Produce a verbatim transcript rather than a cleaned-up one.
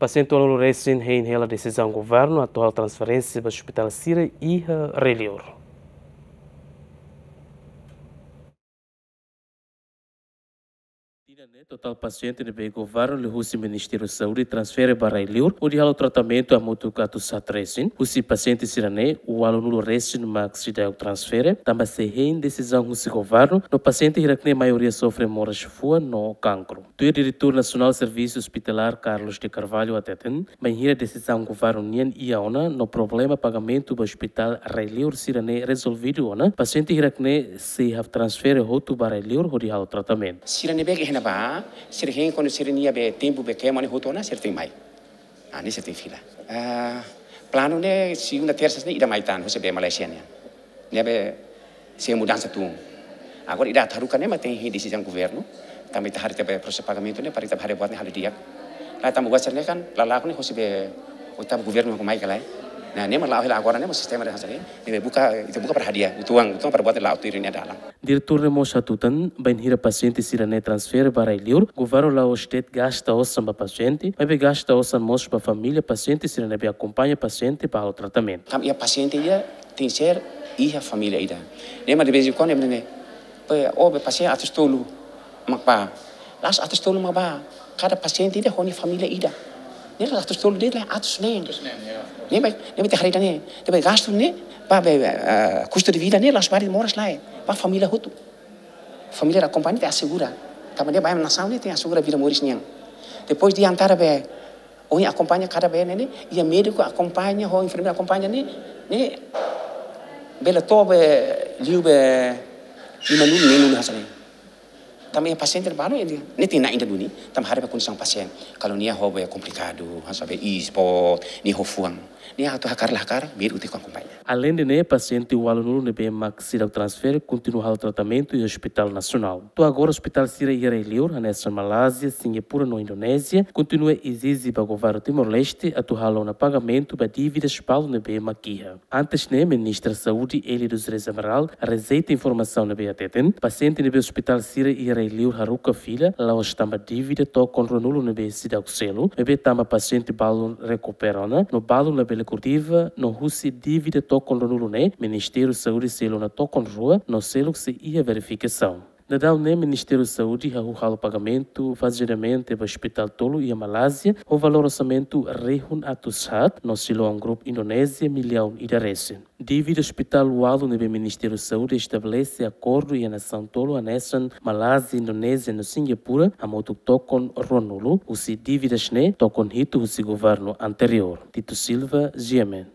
Pasiente ualunulu resin hein hela desizaun governu atu halo transferénsia ba ospitál sira iha rai-liur. Tinan ne'e totál pasiente ne'ebé governu liuhusi Ministériu Saúde transfere ba rai-liur hodi halo tratamentu hamutuk atus haat resin. Husi pasiente sira-ne'e, ualunulu resin mak seidauk transfere, tanba sei hein desizaun husi governu, no pasiente hirak-ne'e maioria sofre moras fuan no kankru. Tuir Diretór Nasionál Servisu Ospitalár Carlos de Carvalho hateten, bainhira desizaun governu nian iha ona no problema pagamentu ba ospitál rai-liur sira-ne'e rezolvidu ona, pasiente hirak-ne'e sei hatransfere hotu ba rai-liur hodi halo tratamentu. Sira ne'ebé ke iha ne'ebá, sira hein kuandu sira-nia be tempu be kemo ne'e hotu ona, sira tenke mai. Ah, ne'e sira tenke fila. Ah, planu ne'e segunda, tersa ne'e ida mai tan, husi be Malaysia nian. Ne'ebé sei mudansa tun. Agora ida atu haruka ne'e mak tenke hein desizaun governu. Tanba ita haree tiha be prosesu pagamentu ne'e, para ita bá haree buat ne'e halo di'ak. Lah tanba buat sira-ne'e kan, lala'ok ne'e hosi be oitavo governu mak mai ka lae. Nah, ne'e mak la'o hela agora ne'e mak sistema de hasil ne'e. Ne'ebé buka, ita buka para hadi'a, uitoan, uitoan para buat ne'e la'o tuir nia dalan. Diretór ne'e mós hatutan, bainhira pasiente sira-ne'e transfere ba rai-liur, governu la'ós de'it gasta osan ba pasiente, maibé gasta osan mós ba família pasiente sira ne'ebé akompaña pasiente ba halo tratamentu. Tanba iha pasiente ida tenke ser iha família ida. Ne'e mak de vez em quando ne'e, pe, o be pasiente atus tolu mak bá. La'ós atus tolu mak bá. Kada pasiente ida ho nia família ida. Ne'e la'ós atus tolu de'it, la'ós atus neen. Atus neen, ya. Ne'e mak, ne'e mak ita haree ida-ne'e. Ne'ebé gastu ne'e, ba be, eh, kustu de vida ne'e la'ós ba de'it moras lae. Ba família hotu. Família akompaña tenke asegura. Tanba ne'e ba nasaun ne'e tenke asegura vida moris nian. Depois de antara be, ohin akompaña kada be ne'e, iha médiku akompaña, ho enfermeira akompaña ne'e, ne'e bele to'o be, liu be, limanulu, neenulu hanesan ne'e. Tanba iha pasiente balu, ne'e, ne'e tenke na'in ida duni, tanba haree be kondisaun pasiente. Kalau nia ho be komplikadu, hanesan be iis boot, nia ho fuan. Nia atu hakarak la hakarak, médiku tenke akompaña. Aleinde ne'e, pasiente ualunulu ne'ebé mak seidauk transfere kontinua halo tratamentu iha Ospitál Nasionál. To'o agora ospitál sira iha rai-liur, hanesan Malázia, Singapura no Indonézia, kontinua ezije ba governu Timor-Leste atu halo ona pagamentu ba dívidas balu ne'ebé mak iha. Antes ne'e, Ministra Saúde Élia dos Reis Amaral rejeita informasaun ne'ebé hateten pasiente ne'ebé ospitál sira iha rai-liur haruka fila la'ós tanba dívida tokon ruanulu ne'ebé seidauk selu, maibé tanba pasiente balun rekupera ona no balun labele kurdeva, no husi dívida tokon ruanulu ne'e, Ministériu Saúde selu ona tokon rua no seluk sei iha verifikasaun. Daudaun ne'e Ministériu Saúde hahú halo pagamentu fazeadamente ba ospitál tolu iha Malázia, ho valór orsamentu rihun atus haat, no Siloam Group Indonézia millaun ida resin. Dívida ospitál ualu ne'ebé Ministériu Saúde estabelese akordu iha nasaun tolu hanesan Malázia, Indonézia no Singapura, hamutuk tokon ruanulu, husi dívidas ne'e, tokon hitu husi governu anteriór. Tito Silva, G M N.